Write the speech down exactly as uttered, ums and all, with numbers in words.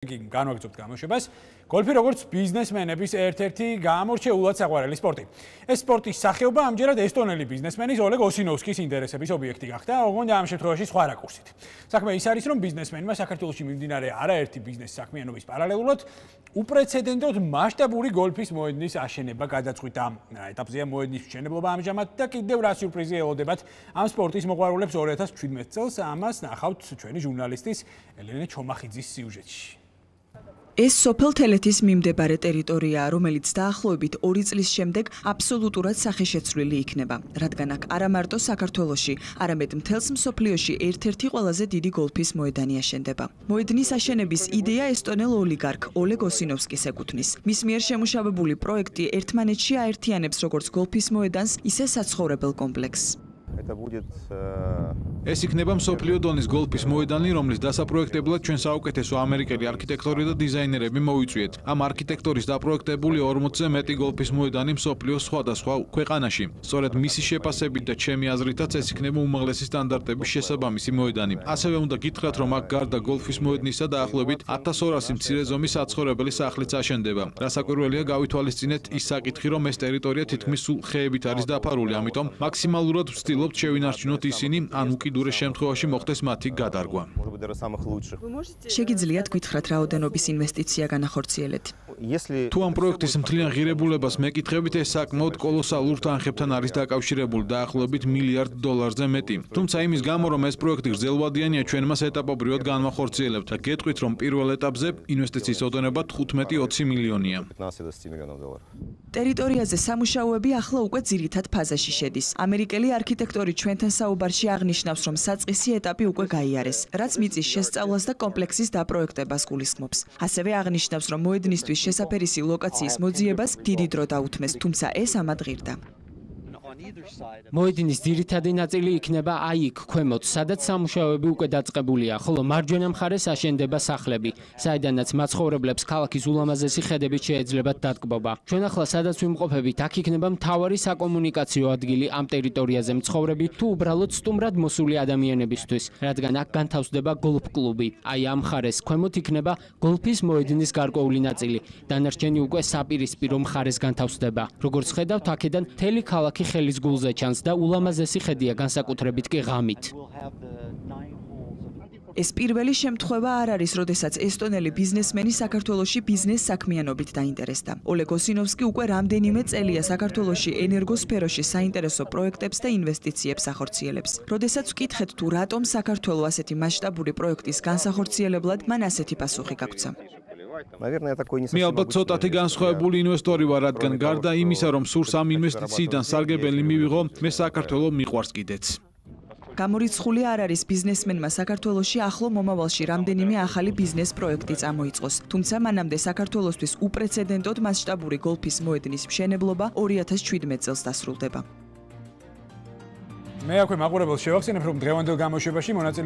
განვაგრძობთ გამოშვებას. გოლფი როგორც ბიზნესმენების ერთ-ერთი გაამორჩეულად საყვარელი სპორტი. ეს სპორტის სახეობა ამჯერად ესტონელი ბიზნესმენის ოლეგ ოსინოვსკის ინტერესების ობიექტი გახდა, ოღონდ ამ შემთხვევაში სხვა რაკურსით. საქმე ის არის, რომ ბიზნესმენმა საქართველოში მიმდინარე არაერთი ბიზნეს საქმიანობის პარალელურად უპრეცედენტოდ მასშტაბური გოლფის მოედნის აშენება გადაწყვიტა. ეტაპზეა მოედნის მშენებლობა ამჟამად და კიდევ რა სიურპრიზი ელოდებათ ამ სპორტის მოყვარულებს ორი ათას შვიდმეტ წელს. ამას ნახავთ ჩვენი ჟურნალისტის ელენე ჩომახიძის სიუჟეტში. ეს სოფელ თელეთის მიმდებარე ტერიტორიაა, რომელიც დაახლოებით ორი წლის შემდეგ აბსოლუტურად სახეშეცვლილი იქნება, რადგან აქ არა მარტო საქართველოში, არამედ მთელს მსოფლიოში ერთ-ერთი ყველაზე დიდი გოლფის მოედანი აშენდება. მოედნის აშენების იდეა ესტონელ ოლიგარქ ოლეგ ოსინოვსკის ეკუთვნის. მის მიერ შემუშავებული პროექტი ერთმანეთში აერთიანებს როგორც გოლფის მოედანს, ისე საცხოვრებელ კომპლექსს. ეს იქნება მსოფლიო დონის გოლფის მოედანი, რომლის დასაპროექტებლად ჩვენ საუკეთესო ამერიკელი არქიტექტორი და დიზაინერები მოვიწვიეთ. ამ არქიტექტორის დაპროექტებული ორმოცზე მეტი გოლფის მოედანი მსოფლიოს სხვადასხვა ქვეყანაში. სწორედ მისი შეფასებით და ჩემი აზრითაც ეს იქნება უმაღლესი სტანდარტების შესაბამისი მოედანი. ასევე უნდა გითხრათ, რომ აქ გარდა გოლფის მოედნისა დაახლოებით ათას ორასი მცირე ზომის საცხოვრებელი სახლიც აშენდება. რასაკვირველია, გავითვალისწინეთ ის საკითხი, რომ ეს ტერიტორია თითქმის სულ ხეებით არის დაფარული, ამიტომ მაქსიმალურად ვცდილობთ შევინარჩუნოთ ისინი, ან უკიდურეს შემთხვევაში მოხდეს მათი გადარგვა. შეგიძლიათ გითხრათ, რაოდენობის ინვესტიცია განახორციელეთ? თუ ამ პროექტის მთლიან ღირებულებას მეკითხებით, ეს საკმაოდ კოლოსალურ თანხებთან არის დაკავშირებული, დაახლოებით მილიარდ დოლარზე მეტი. თუმცა იმის გამო, რომ ეს პროექტი გრძელვადიანია, ჩვენ მას ეტაპობრივად განვახორციელებთ და გეტყვით, რომ პირველ ეტაპზე ინვესტიციის ოდენობა თხუთმეტი ოცი მილიონია. ტერიტორიაზე სამუშაოები ახლა უკვე ძირითად ფაზაში შედის. ამერიკელი არქიტექტორი ჩვენთან საუბარში აღნიშნავს, რომ საწყისი ეტაპი უკვე გაიარეს, რაც მიწის შესწავლას და კომპლექსის დაპროექტებას გულისხმობს. ასევე აღნიშნავს, რომ მოედნისთვის შესაფერისი ლოკაციის მოძიებას დიდი დრო დაუთმეს, თუმცა ეს ამად ღირდა. მოედნის ძირითადი ნაწილი იქნება აი იქ ქვემოთ, სადაც სამუშაოები უკვე დაწყებულია, ხოლო მარჯვენა მხარეს აშენდება სახლები, საიდანაც მაცხოვრებლებს ქალაქის ულამაზესი ხედებით შეეძლებათ დატკბობა. ჩვენ ახლა სადაც ვიმყოფებით, აქ იქნება მთავარი საკომუნიკაციო ადგილი ამ ტერიტორიაზე მცხოვრები თუ უბრალოდ სტუმრად მოსული ადამიანებისთვის, რადგან აქ განთავსდება გოლფ კლუბი. აი ამ მხარეს ქვემოთ იქნება გოლფის მოედნის გარკვეული ნაწილი, დანარჩენი უკვე საპირისპირო მხარეს განთავსდება. როგორც ხედავთ, აქედან მთელი ქალაქი ხელის გულზე ჩანს და ულამაზესი ხედია, განსაკუთრებით კი ღამით. ეს პირველი შემთხვევა არ არის, როდესაც ესტონელი ბიზნესმენი საქართველოში ბიზნეს საქმიანობით დაინტერესდა. ოლეგ ოსინოვსკი უკვე რამდენიმე წელია საქართველოში ენერგოსფეროში საინტერესო პროექტებს და ინვესტიციებს ახორციელებს. როდესაც ვკითხეთ, თუ რატომ საქართველო ასეთი მასშტაბური პროექტის განსახორციელებლად, მან ასეთი პასუხი გაგვცა. მე ალბათ ცოტათი განსხვავებული ინვესტორი ვარ, რადგან გარდა იმისა, რომ სურს ამ ინვესტიციიდან სარგებელი მივიღო, მე საქართველო მიყვარს კიდეც. გამორიცხული არ არის ბიზნესმენმა საქართველოში ახლო მომავალში რამდენიმე ახალი ბიზნეს პროექტი წამოიწყოს. თუმცა მანამდე საქართველოსთვის უპრეცედენტოდ მასშტაბური გოლფის მოედნის მშენებლობა ორი ათას შვიდმეტ წელს დასრულდება. მე აქვე მაყურებელს შევახსენებ, რომ დღევანდელ გამოშვებაში მონაწილე